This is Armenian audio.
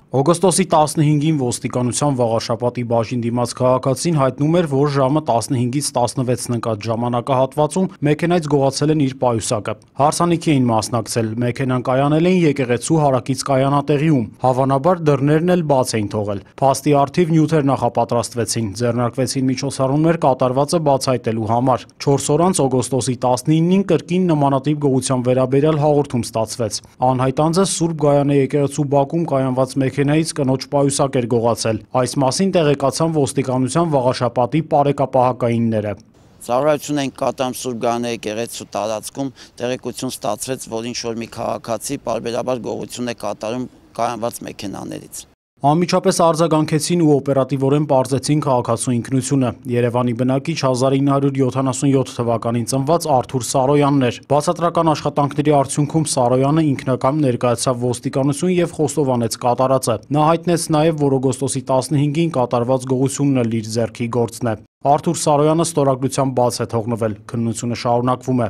Օգոստոսի 15-ին ոստիկանության Վաղարշապատի բաժին դիմաց քաղաքացին հայտնում էր, որ ժամը 15-ից 16-ն ընկած ժամանակահատվածում մեքենայից գողացել են իր պայուսակը։ Հարսանիքի էին մասնակցել, մեքենան կայանել էին եկեղեցու հարակից կայանատեղիում, հավանաբար դռներն էլ բաց էին թողել։ Փաստի առթիվ նյութեր նախապատրաստվեցին, ձեռնարկվեցին միջոցառումներ կատարվածը բացահայտելու համար։ 4 օր անց օգոստոսի 19-ին կրկին նմանատիպ գողության վերաբերյալ հաղորդում ստացվեց։ Անհայտ անձը Սուրբ Գայանե եկեղեցու բակում կայանված մեքենայից կնոջ պայուսակ էր գողացել։ Այս մասին տեղեկացան ոստիկանության Վաղարշապատի պարեկապահակայինները։ Ծառայություն ենք կատարում Սուրբ Գայանե եկեղեցու տարածքում, տեղեկություն ստացվեց, որ ինչ-որ մի քաղաքացի պարբերաբար գողություն է կատարում կայանված մեքենաներից։ Անմիջապես արձագանքեցին ու օպերատիվորեն պարզեցին քաղաքացու ինքնությունը։ Երևանի բնակիչ 1977 թվականին ծնված Արթուր Սարոյանն էր։ Բացատրական աշխատանքների արդյունքում Սարոյանը ինքնակամ ներկայացավ ոստիկանություն եւ խոստովանեց կատարածը։ Նա հայտնեց նաեւ, որ օգոստոսի 15-ին կատարված գողությունն էլ իր ձեռքի գործն է։ Արթուր Սարոյանը ստորագրությամբ բաց է թողնվել։ Քննությունը շարունակվում է։